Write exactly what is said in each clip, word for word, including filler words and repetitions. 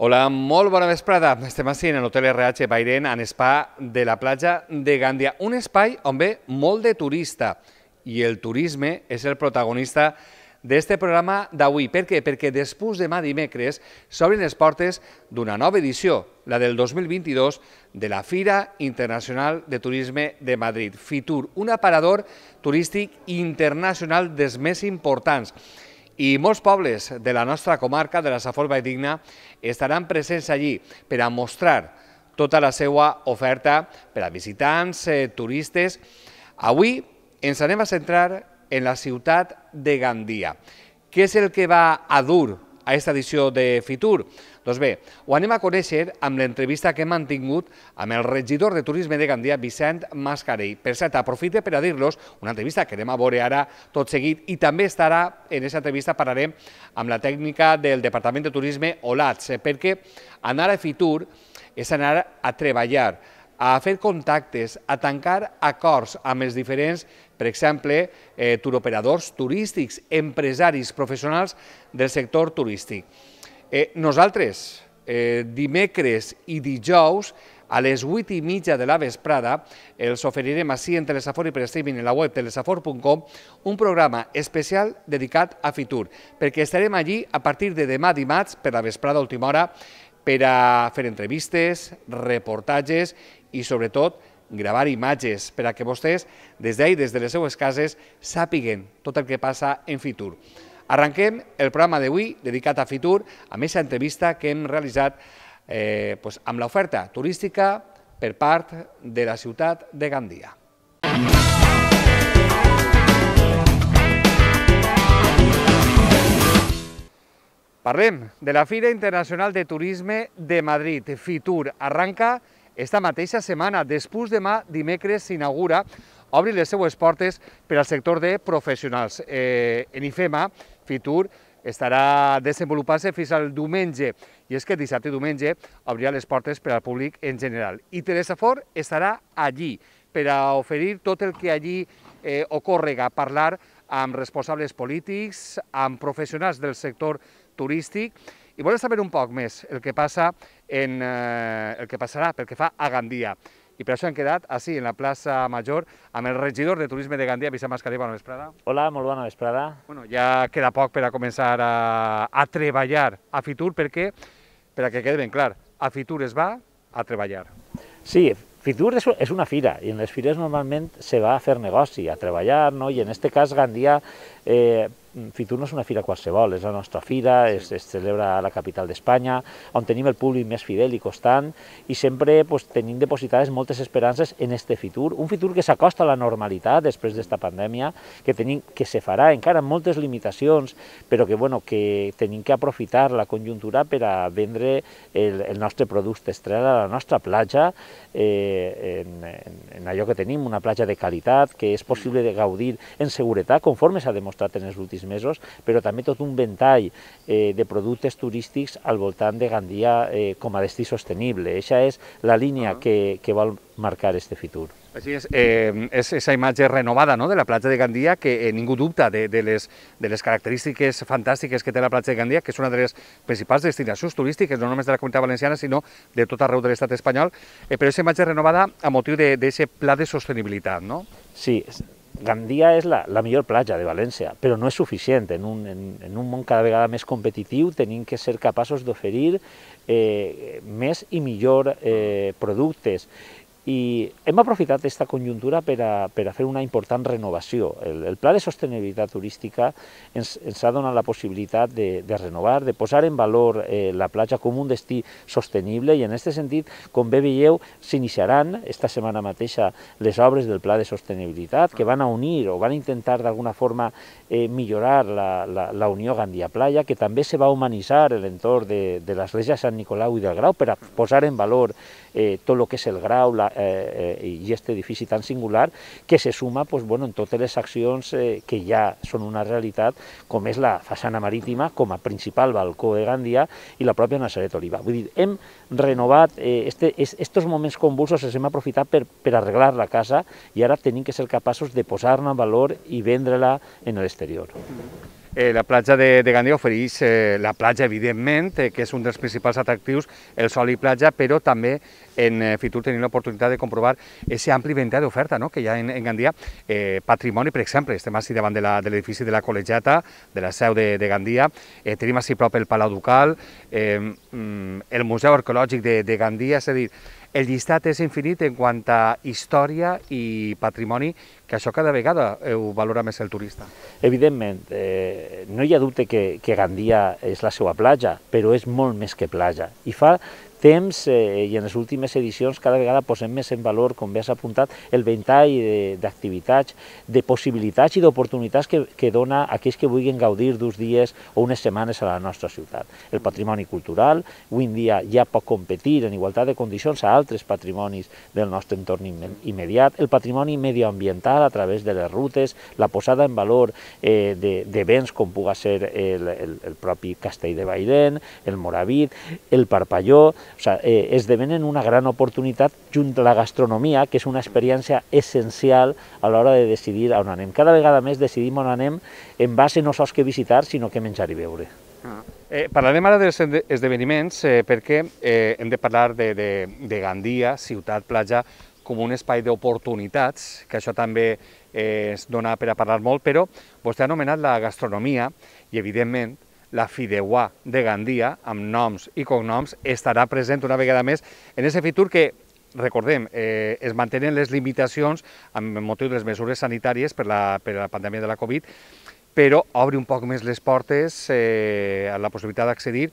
Hola, molt bona vesprada. Estem així en l'Hotel R H Bairén, en spa de la platja de Gandia. Un espai on ve molt de turista i el turisme és el protagonista d'este programa d'avui. Per què? Perquè després demà dimecres s'obren les portes d'una nova edició, la del dos mil vint-i-dos, de la Fira Internacional de Turisme de Madrid, FITUR, un aparador turístic internacional dels més importants. I molts pobles de la nostra comarca, de la Safor Valldigna, estaran presents allí per a mostrar tota la seva oferta per a visitants, eh, turistes. Avui ens anem a centrar en la ciutat de Gandia. Què és el que va a dur a aquesta edició de FITUR? Doncs bé, ho anem a conèixer amb l'entrevista que hem mantingut amb el regidor de Turisme de Gandia, Vicent Mascarell. Per cert, aprofite per a dir-los una entrevista que anem a veure ara tot seguit i també estarà en aquesta entrevista, parlarem amb la tècnica del Departament de Turisme, Olats, perquè anar a FITUR és anar a treballar, a fer contactes, a tancar acords amb els diferents, per exemple, eh, turoperadors turístics, empresaris, professionals del sector turístic. Eh, nosaltres, eh, dimecres i dijous, a les vuit i mitja de la vesprada, els oferirem així en Telesafor i per streaming en la web telesafor punt com un programa especial dedicat a FITUR, perquè estarem allí a partir de demà dimarts per la vesprada a última hora per a fer entrevistes, reportatges i, sobretot, gravar imatges per a que vostès, des d'ahir, des de les seues cases, sàpiguen tot el que passa en FITUR. Arrenquem el programa d'avui dedicat a FITUR amb aquesta entrevista que hem realitzat eh, pues, amb l'oferta turística per part de la ciutat de Gandia. Parlem de la Fira Internacional de Turisme de Madrid, FITUR. Arranca esta mateixa setmana. Després demà, dimecres, s'inaugura, obri les seues portes per al sector de professionals. Eh, en IFEMA, FITUR estarà desenvolupant-se fins al diumenge, i és que dissabte i diumenge obrirà les portes per al públic en general. I Telesafor estarà allí per a oferir tot el que allí eh, ocorrega, parlar amb responsables polítics, amb professionals del sector turístic, i volem saber un poc més el que passa en, eh, el que passarà pel que fa a Gandia. I per això hem quedat així, en la plaça Major, amb el regidor de Turisme de Gandia, Vicent Mascarell. Bona vesprada. Hola, molt bona vesprada. Bueno, ja queda poc per a començar a, a treballar a FITUR, perquè, per a que quede ben clar, a FITUR es va a treballar. Sí, FITUR és, és una fira, i en les fires normalment se va a fer negoci, a treballar, no? I en aquest cas Gandia, eh, FITUR no és una fira qualsevol, és la nostra fira, es, es celebra a la capital d'Espanya, on tenim el públic més fidel i constant, i sempre pues, tenim depositades moltes esperances en este FITUR, un FITUR que s'acosta a la normalitat després d'esta pandèmia, que, tenim, que se farà encara amb moltes limitacions, però que, bueno, que tenim que aprofitar la conjuntura per a vendre el, el nostre producte estrella a la nostra platja, eh, en, en, en allò que tenim, una platja de qualitat, que és possible de gaudir en seguretat, conforme s'ha demostrat en els últims mesos, però també tot un ventall eh, de productes turístics al voltant de Gandia eh, com a destí sostenible. Eixa és la línia que, que vol marcar este FITUR. Així és, eh, és aquesta imatge renovada, no?, de la platja de Gandia, que eh, ningú dubta de, de, les, de les característiques fantàstiques que té la platja de Gandia, que és una de les principals destinacions turístiques, no només de la Comunitat Valenciana, sinó de tot arreu de l'estat espanyol, eh, però aquesta imatge renovada a motiu d'aquest pla de sostenibilitat, no? Sí, Gandia és la, la millor platja de València, però no és suficient. En un, en, en un món cada vegada més competitiu tenim que ser capaços d'oferir eh, més i millor eh, productes. I hem aprofitat aquesta conjuntura per a, per a fer una important renovació. El, el pla de sostenibilitat turística ens, ens ha donat la possibilitat de, de renovar, de posar en valor eh, la platja com un destí sostenible, i en aquest sentit, com bé veieu, s'iniciaran esta setmana mateixa les obres del pla de sostenibilitat, que van a unir o van a intentar d'alguna forma eh, millorar la, la, la Unió Gandia-Playa, que també se va humanitzar l'entorn de, de l'església Sant Nicolau i del Grau per a posar en valor eh, tot el que és el Grau, la, Eh, eh, i aquest edifici tan singular, que se suma pues, bueno, en totes les accions eh, que ja són una realitat, com és la façana marítima com a principal balcó de Gandia i la pròpia Nazaret Oliva. Vull dir, hem renovat, eh, este, estos moments convulsos els hem aprofitat per, per arreglar la casa, i ara tenim que ser capaços de posar-la en valor i vendre-la en l'exterior. Eh, la platja de, de Gandia ofereix eh, la platja, evidentment, eh, que és un dels principals atractius, el sol i platja, però també en eh, Fitur tenim l'oportunitat de comprovar aquest ampli ventall d'oferta, no?, que hi ha en, en Gandia. Eh, patrimoni, per exemple, estem així davant de l'edifici de, de la Col·legiata, de la seu de, de Gandia, eh, tenim així prop el Palau Ducal, eh, el Museu Arqueològic de, de Gandia, és a dir, el llistat és infinit en quant a història i patrimoni, que això cada vegada ho valora més el turista. Evidentment, eh, no hi ha dubte que, que Gandia és la seva platja, però és molt més que platja. I fa temps, eh, i en les últimes edicions, cada vegada posem més en valor, com bé has apuntat, el ventall d'activitats, de, de possibilitats i d'oportunitats que, que dona a aquells que vulguin gaudir d'uns dies o unes setmanes a la nostra ciutat. El patrimoni cultural, avui en dia ja pot competir en igualtat de condicions a altres patrimonis del nostre entorn immediat, el patrimoni medioambiental a través de les rutes, la posada en valor eh, de, de béns com puga ser el, el, el propi Castell de Baidén, el Moravit, el Parpalló. O sigui, eh, esdevenen una gran oportunitat junt a la gastronomia, que és una experiència essencial a l'hora de decidir on anem. Cada vegada més decidim on anem en base no sols que visitar, sinó que menjar i beure. Ah. Eh, parlarem ara dels esdeveniments eh, perquè eh, hem de parlar de, de, de Gandia, ciutat platja, com un espai d'oportunitats, que això també eh, es dona per a parlar molt, però vostè ha anomenat la gastronomia i, evidentment, la Fideuà de Gandia, amb noms i cognoms, estarà present una vegada més en aquest Fitur que, recordem, eh, es mantenen les limitacions amb motiu de les mesures sanitàries per la, per la pandèmia de la Covid, però obre un poc més les portes eh, a la possibilitat d'accedir.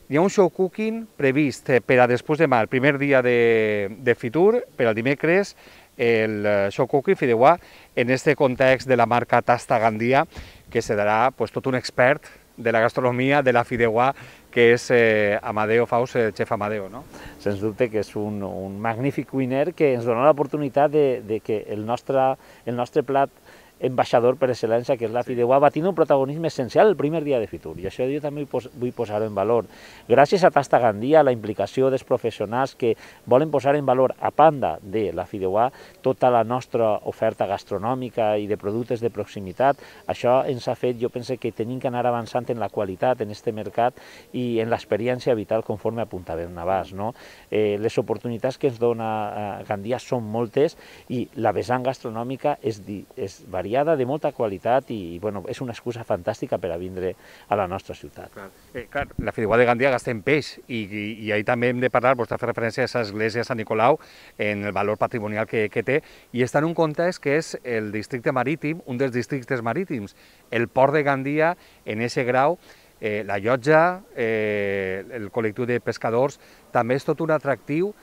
Hi ha un show cooking previst per a després demà, el primer dia de, de Fitur, per al dimecres, el show cooking Fideuà, en aquest context de la marca Tasta Gandia, que serà pues, tot un expert de la gastronomia, de la Fideuà, que és eh, Amadeo Faus, el xef Amadeo, no? Sens dubte que és un, un magnífic cuiner que ens dona l'oportunitat de, de que el nostre, el nostre plat ambaixador per excel·lència, que és la Fideuà, va tenir un protagonisme essencial el primer dia de Fitur, i això jo també vull posar-ho en valor. Gràcies a Tasta Gandia, a la implicació dels professionals que volen posar en valor, a banda de la Fideuà, tota la nostra oferta gastronòmica i de productes de proximitat, això ens ha fet, jo penso que tenim que anar avançant en la qualitat en aquest mercat i en l'experiència vital conforme apuntàvem abans, no? Eh, les oportunitats que ens dona eh, Gandia són moltes i la vessant gastronòmica és, és variada, de molta qualitat i bueno, és una excusa fantàstica per a vindre a la nostra ciutat. Clar, eh, clar, la Fideuà de Gandia gasta en peix i, i, i ahí també hem de parlar, vostè fa referència a aquesta església de Sant Nicolau, en el valor patrimonial que, que té, i està en un context que és el districte marítim, un dels districtes marítims, el port de Gandia, en aquest grau, eh, la llotja, eh, el col·lectiu de pescadors, també és tot un atractiu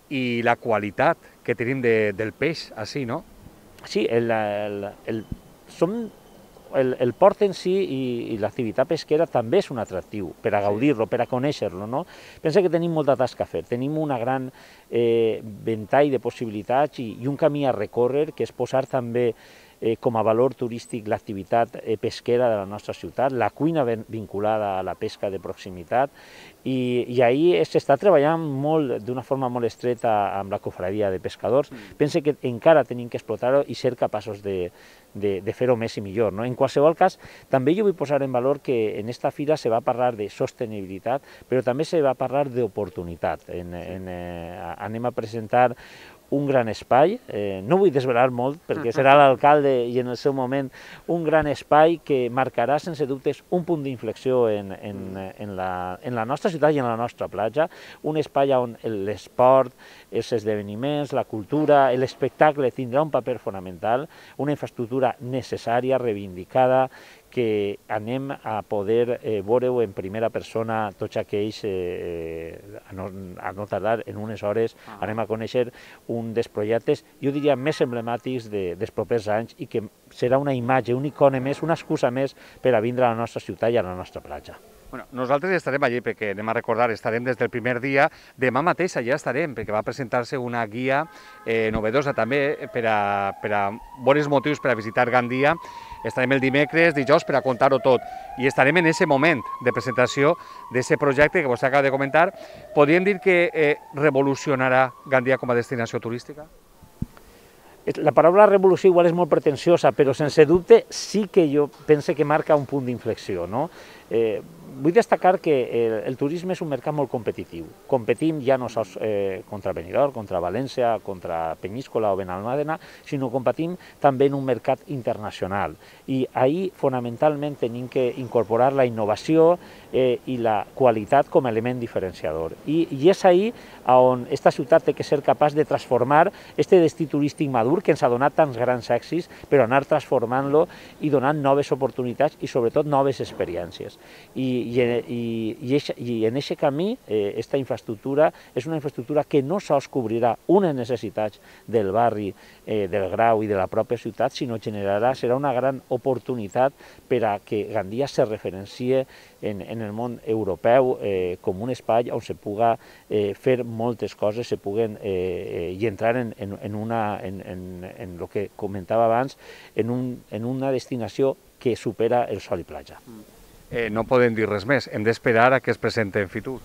i la qualitat que tenim de, del peix, així, no? Sí, el, el, el, som, el, el port en si i, i l'activitat pesquera també és un atractiu per a gaudir-lo, per a conèixer-lo, no? Pensa que tenim molta tasca a fer, tenim una gran eh, ventall de possibilitats i, i un camí a recórrer que és posar també eh, com a valor turístic l'activitat eh, pesquera de la nostra ciutat, la cuina vinculada a la pesca de proximitat, i, i ahir s'està treballant molt, d'una forma molt estreta amb la cofradia de pescadors. Mm. Pense que encara tenim que explotar-ho i ser capaços de, de, de fer-ho més i millor, no? En qualsevol cas, també jo vull posar en valor que en esta fira se va parlar de sostenibilitat, però també se va parlar d'oportunitat. En, en, eh, anem a presentar un gran espai, eh, no vull desvelar molt perquè serà l'alcalde i en el seu moment un gran espai que marcarà sense dubtes un punt d'inflexió en, en, en, la, en la nostra ciutat i en la nostra platja, un espai on l'esport, els esdeveniments, la cultura, l'espectacle tindrà un paper fonamental, una infraestructura necessària, reivindicada, que anem a poder eh, veure-ho en primera persona tots aquells, eh, a, no, a no tardar en unes hores, ah. anem a conèixer un dels projectes, jo diria, més emblemàtics de, dels propers anys i que serà una imatge, un icone més, una excusa més per a vindre a la nostra ciutat i a la nostra platja. Bueno, nosaltres estarem allí perquè anem a recordar, estarem des del primer dia, demà mateix allà estarem perquè va presentar-se una guia eh, novedosa també per a, per a bons motius per a visitar Gandia. Estarem el dimecres, dijous, per a contar-ho tot i estarem en aquest moment de presentació d'aquest projecte que vostè acaba de comentar. Podríem dir que eh, revolucionarà Gandia com a destinació turística? La paraula revolució igual és molt pretensiosa, però sense dubte sí que jo pense que marca un punt d'inflexió, no? Eh, vull destacar que el, el turisme és un mercat molt competitiu. Competim ja no sols eh, contra Benidorm, contra València, contra Penyíscola o Benalmàdena, sinó competim també en un mercat internacional. I ahir, fonamentalment, tenim que incorporar la innovació eh, i la qualitat com a element diferenciador. I, i és ahir on esta ciutat té que ser capaç de transformar este destí turístic madur que ens ha donat tants grans èxits, però anar transformant-lo i donant noves oportunitats i sobretot noves experiències. I, i, i, i, eixa, i en aquest camí, eh, esta infraestructura és una infraestructura que no sols cobrirà unes necessitats del barri, eh, del Grau i de la pròpia ciutat, sinó generarà, serà una gran oportunitat per a que Gandia se referencie en, en el món europeu eh, com un espai on se puga eh, fer moltes coses, se puguen eh, i entrar en, en, en, una, en, en, en el que comentava abans, en, un, en una destinació que supera el sol i platja. Eh, no podem dir res més, hem d'esperar a que es presenti en Fitur.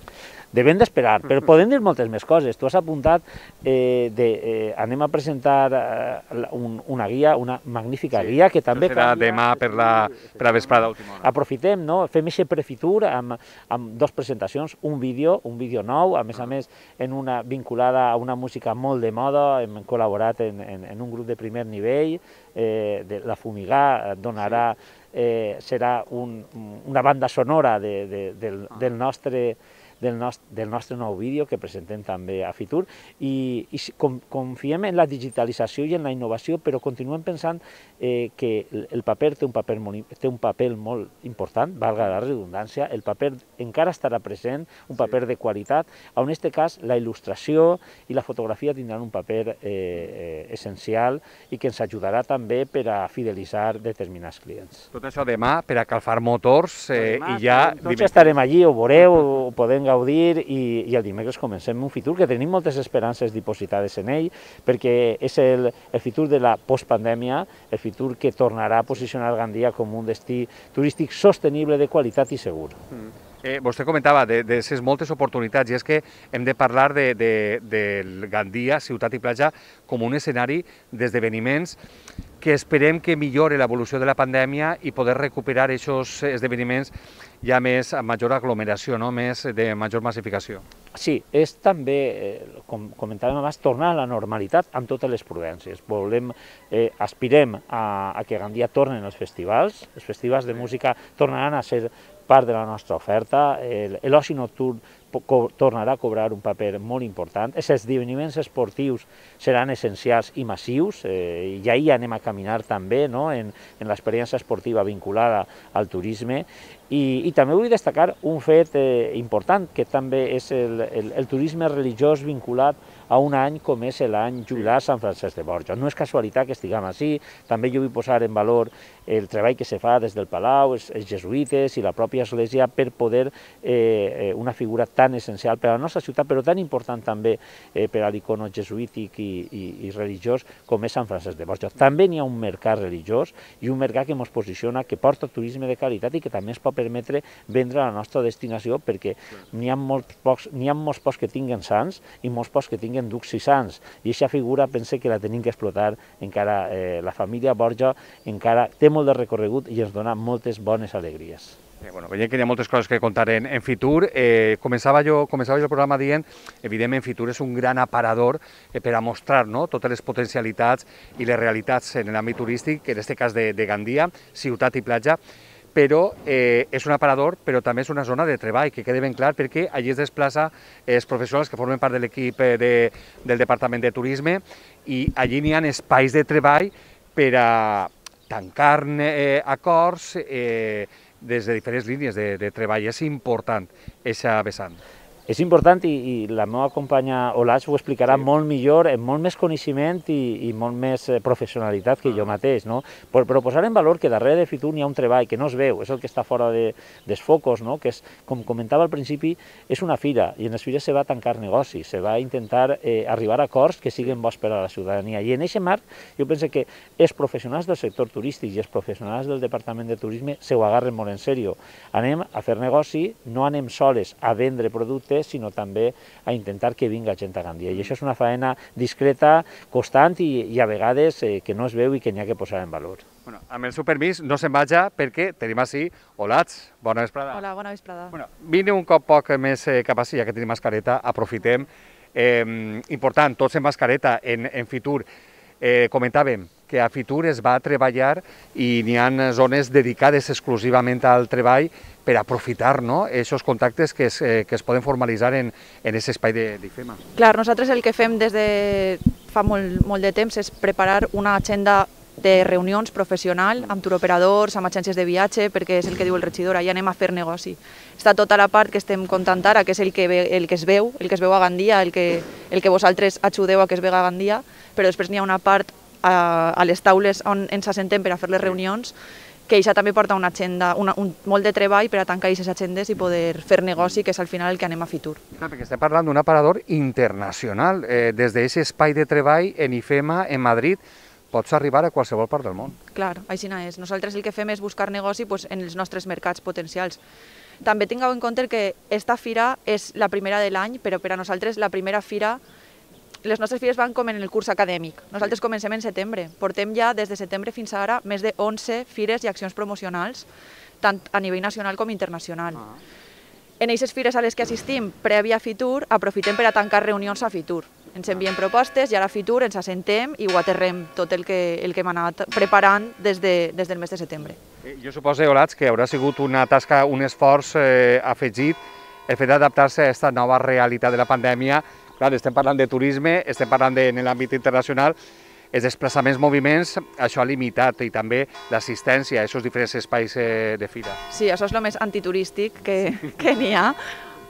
Devem d'esperar, però podem dir moltes més coses. Tu has apuntat, eh, de, eh, anem a presentar eh, un, una guia, una magnífica sí, guia, que també... Serà canvia, demà per la, per la vesprada última hora. Aprofitem, no? Fem aquest prefitur amb, amb dos presentacions, un vídeo, un vídeo nou, a més a més en una vinculada a una música molt de moda, hem col·laborat en, en, en un grup de primer nivell, eh, de la Fumigà donarà... Sí. Eh, serà un, una banda sonora de, de, del, del, nostre, del, nostre, del nostre nou vídeo que presentem també a Fitur i, i com, confiem en la digitalització i en la innovació, però continuem pensant eh, que el paper té un paper, molt, té un paper molt important, valga la redundància, el paper encara estarà present, un paper de qualitat, en aquest cas la il·lustració i la fotografia tindran un paper eh, eh, essencial i que ens ajudarà també per a fidelitzar determinats clients. Tot això demà per a calfar motors eh, demà, i ja... Tots estarem allí, ho veureu, ho podem gaudir i, i el dimecres comencem un Fitur que tenim moltes esperances dipositades en ell perquè és el, el Fitur de la postpandèmia, el Fitur que tornarà a posicionar Gandia com un destí turístic sostenible, de qualitat i segur. Mm. Eh, vostè comentava de, de ses moltes oportunitats i és que hem de parlar de, de, de Gandia, ciutat i platja, com un escenari d'esdeveniments que esperem que millore l'evolució de la pandèmia i poder recuperar aquests esdeveniments ja més amb major aglomeració, no? Més de major massificació. Sí, és també, eh, com comentàvem abans, tornar a la normalitat amb totes les prudències. Volem, eh, aspirem a, a que Gandia tornen els festivals, els festivals de música tornaran a ser part de la nostra oferta, l'oci nocturn tornarà a cobrar un paper molt important, els esdeveniments esportius seran essencials i massius, eh, i ahir anem a caminar també, no?, en, en l'experiència esportiva vinculada al turisme, i, i també vull destacar un fet eh, important, que també és el, el, el turisme religiós vinculat a un any com és l'any jubilar Sant Francesc de Borja. No és casualitat que estiguem així, també jo vull posar en valor el treball que se fa des del Palau, els, els jesuïtes i la pròpia església per poder eh, una figura tan essencial per a la nostra ciutat, però tan important també eh, per a l'icono jesuític i, i, i religiós com és Sant Francesc de Borja. També n'hi ha un mercat religiós i un mercat que ens posiciona, que porta turisme de qualitat i que també ens pot permetre vendre la nostra destinació, perquè n'hi ha molts pocs, n'hi ha molts pocs que tinguen sants i molts pocs que tinguen ducs i sants, i aquesta figura pense que la tenim que explotar encara. Eh, la família Borja encara té molt de recorregut i ens dona moltes bones alegries. Eh, bueno, veiem que hi ha moltes coses que contar en, en Fitur. Eh, començava, jo, començava jo el programa dient, evidentment Fitur és un gran aparador eh, per a mostrar, no?, totes les potencialitats i les realitats en l'àmbit turístic, en aquest cas de, de Gandia, ciutat i platja, però eh, és un aparador, però també és una zona de treball, que quede ben clar, perquè allí es desplaça els professionals que formen part de l'equip de, del Departament de Turisme i allí n'hi ha espais de treball per a tancar eh, acords eh, des de diferents línies de, de treball. És important aquesta vessant. És important i, i la meva companya Olaix ho explicarà sí. molt millor, amb molt més coneixement i, i molt més professionalitat que jo mateix, no? Però, però posar en valor que darrere de Fitur hi ha un treball que no es veu, és el que està fora de, dels focus, no? Que és, com comentava al principi, és una fira, i en les fires se va tancar negocis, se va intentar eh, arribar a acords que siguin bons per a la ciutadania. I en aquest marc jo penso que els professionals del sector turístic i els professionals del Departament de Turisme se ho agarren molt en sèrio. Anem a fer negoci, no anem soles a vendre productes, turista, sinó també a intentar que vinga gent a Gandia. I això és una faena discreta, constant i, i a vegades eh, que no es veu i que n'hi ha que posar en valor. Bueno, amb el seu permís no se'n vaja perquè tenim així Olats. Bona vesprada. Hola, bona vesprada. Bueno, vine un cop poc més eh, cap així, ja que tenim mascareta, aprofitem. Eh, important, tots en mascareta, en, en Fitur. Eh, comentàvem que a Fitur es va treballar i n'hi ha zones dedicades exclusivament al treball per aprofitar no, aquests contactes que es, eh, que es poden formalitzar en aquest espai d'IFEMA. Clar, nosaltres el que fem des de fa molt, molt de temps és preparar una agenda de reunions professional amb turoperadors, amb agències de viatge, perquè és el que diu el regidor, allà anem a fer negoci. Està tota la part que estem contant ara, que és el que, ve, el que es veu, el que es veu a Gandia, el que, el que vosaltres ajudeu a que es vega a Gandia, però després n'hi ha una part a, a les taules on ens assentem per a fer les reunions, que això també porta una agenda, una, un, molt de treball per a tancar aquestes agendes i poder fer negoci, que és al final el que anem a Fitur. Clar, perquè estem parlant d'un aparador internacional. Eh, des d'aquest espai de treball en IFEMA, en Madrid, pots arribar a qualsevol part del món. Clar, així és. Nosaltres el que fem és buscar negoci pues, en els nostres mercats potencials. També tingueu en compte que esta fira és la primera de l'any, però per a nosaltres la primera fira, les nostres fires van com en el curs acadèmic. Nosaltres comencem en setembre. Portem ja des de setembre fins ara més de onze fires i accions promocionals, tant a nivell nacional com internacional. Ah. En aquestes fires a les que assistim, prèvia a Fitur, aprofitem per a tancar reunions a Fitur. Ens envien propostes i ara a Fitur ens assentem i ho aterrem tot el que, el que hem anat preparant des, de, des del mes de setembre. Jo suposo, Olats, que haurà sigut una tasca, un esforç eh, afegit el fet d'adaptar-se a aquesta nova realitat de la pandèmia. Clar, estem parlant de turisme, estem parlant de, en l'àmbit internacional, els desplaçaments, moviments, això ha limitat i també l'assistència a aquests diferents espais eh, de fira. Sí, això és el més antiturístic que, que n'hi ha.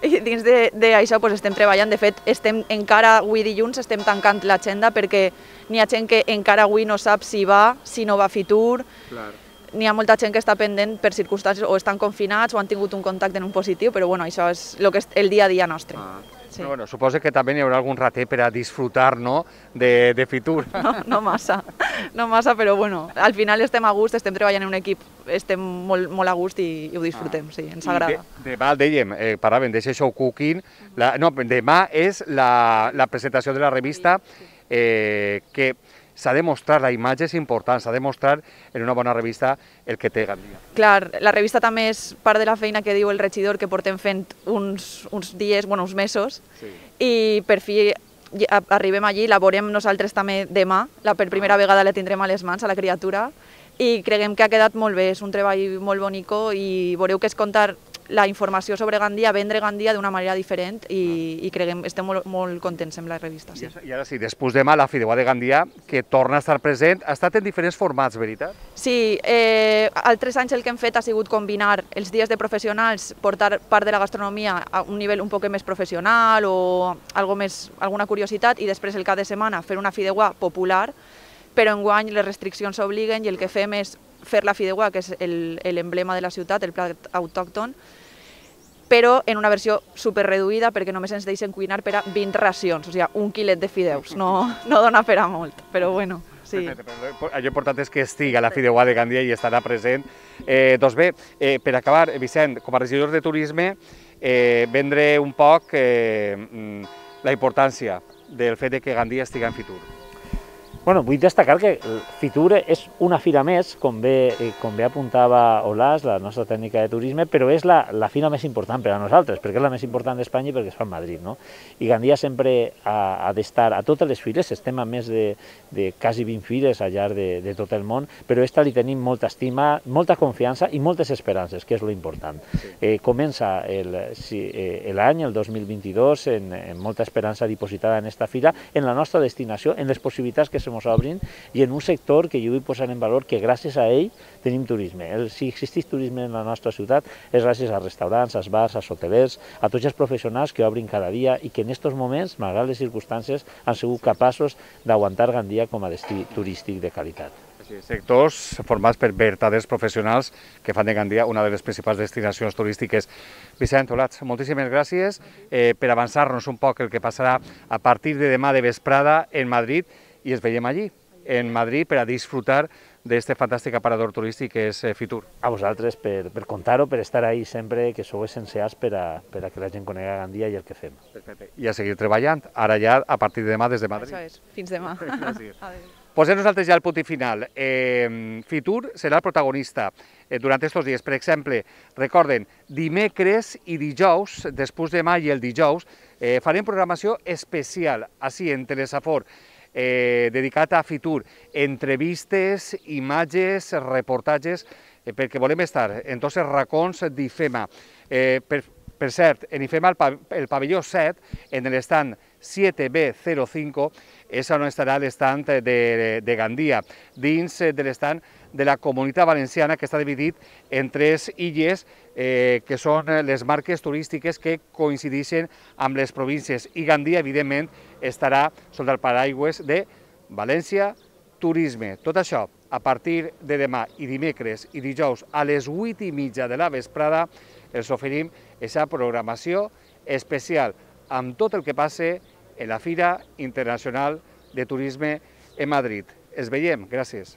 I dins d'això pues, estem treballant. De fet, estem encara avui dilluns estem tancant l'agenda perquè n'hi ha gent que encara avui no sap si va, si no va a Fitur. N'hi ha molta gent que està pendent per circumstàncies o estan confinats o han tingut un contacte en un positiu, però bueno, això és el, que és el dia a dia nostre. Ah. Sí. Però, bueno, suposo que també hi haurà algun rater per a disfrutar no, de, de Fitur. No, no massa, no massa, però bueno, al final estem a gust, estem treballant en un equip, estem molt, molt a gust i, i ho disfrutem, ah. sí, ens agrada. De, demà, dèiem, eh, paràvem d'això show cooking, la, no, demà és la, la presentació de la revista eh, que s'ha de mostrar, la imatge és important, s'ha de mostrar en una bona revista el que té Gandia. Clar, la revista també és part de la feina que diu el regidor que portem fent uns, uns dies, bueno, uns mesos, sí. I per fi arribem allí, la veurem nosaltres també demà, la per primera vegada la tindrem a les mans, a la criatura, i creguem que ha quedat molt bé, és un treball molt bonico i veureu que és contar la informació sobre Gandia, vendre Gandia d'una manera diferent i, i creguem, estem molt, molt contents amb la revista. Sí. I ara sí, després demà la Fideuà de Gandia, que torna a estar present, ha estat en diferents formats, veritat? Sí, eh, altres anys el que hem fet ha sigut combinar els dies de professionals, portar part de la gastronomia a un nivell un poc més professional o algo més, alguna curiositat i després el cap de setmana fer una Fideuà popular, però enguany les restriccions obliguen i el que fem és fer la Fideuà, que és l'emblema de la ciutat, el plat autòcton, però en una versió superreduïda perquè només ens deixen cuinar per a vint racions, o sigui, un quilet de fideus, no, no dona per a molt, però bueno. Sí. Perfecte, allò important és que estigui a la Fideuà de Gandia i estarà present. Eh, doncs bé, eh, per acabar, Vicent, com a regidor de turisme, eh, vendre un poc eh, la importància del fet de que Gandia estigui en Fitur. Bueno, vull destacar que Fitur és una fira més, com bé, com bé apuntava Olàs, la nostra tècnica de turisme, però és la, la fira més important per a nosaltres, perquè és la més important d'Espanya i perquè es fa a Madrid, no? I Gandia sempre ha, ha d'estar a totes les fires, estem a més de, de quasi vint fires al llarg de, de tot el món, però a esta li tenim molta estima, molta confiança i moltes esperances, que és lo important. Sí. Eh, comença l'any, el dos mil vint-i-dos, en, en molta esperança dipositada en esta fira, en la nostra destinació, en les possibilitats que se ens obrin i en un sector que jo vull posar en valor que gràcies a ell tenim turisme. El, si existeix turisme en la nostra ciutat és gràcies als restaurants, als bars, als hotelers, a tots els professionals que obrin cada dia i que en aquests moments, malgrat les circumstàncies, han sigut capaços d'aguantar Gandia com a destí turístic de qualitat. Sí, sectors formats per verdaders professionals que fan de Gandia una de les principals destinacions turístiques. Vicent, Olats, moltíssimes gràcies eh, per avançar-nos un poc el que passarà a partir de demà de vesprada en Madrid i ens veiem allí, en Madrid, per a disfrutar d'aquest fantàstic aparador turístic que és Fitur. A vosaltres per, per contar-ho, per estar ahí sempre, que sou essencials per a, per a que la gent conega Gandia i el que fem. Perfecte. I a seguir treballant, ara ja a partir de demà des de Madrid. Això és, fins demà. Gràcies. Adéu. Posem nosaltres ja el punt i final. Eh, Fitur serà el protagonista eh, durant aquests dies. Per exemple, recorden, dimecres i dijous, després de demà i el dijous, eh, farem programació especial, així en Telesafor, eh, dedicat a Fitur, entrevistes, imatges, reportatges, eh, perquè volem estar en tots els racons d'IFEMA. Eh, per, per cert, en IFEMA el, pav el pavelló set, en l'estand siete B cero cinco, és on estarà l'estand de, de Gandia, dins de l'estand de la Comunitat Valenciana, que està dividit en tres illes, eh, que són les marques turístiques que coincideixen amb les províncies. I Gandia, evidentment, estarà sota el paraigües de València Turisme. Tot això, a partir de demà i dimecres i dijous a les vuit i mitja de la vesprada, els oferim aquesta programació especial amb tot el que passe en la Fira Internacional de Turisme en Madrid. Es veiem, gràcies.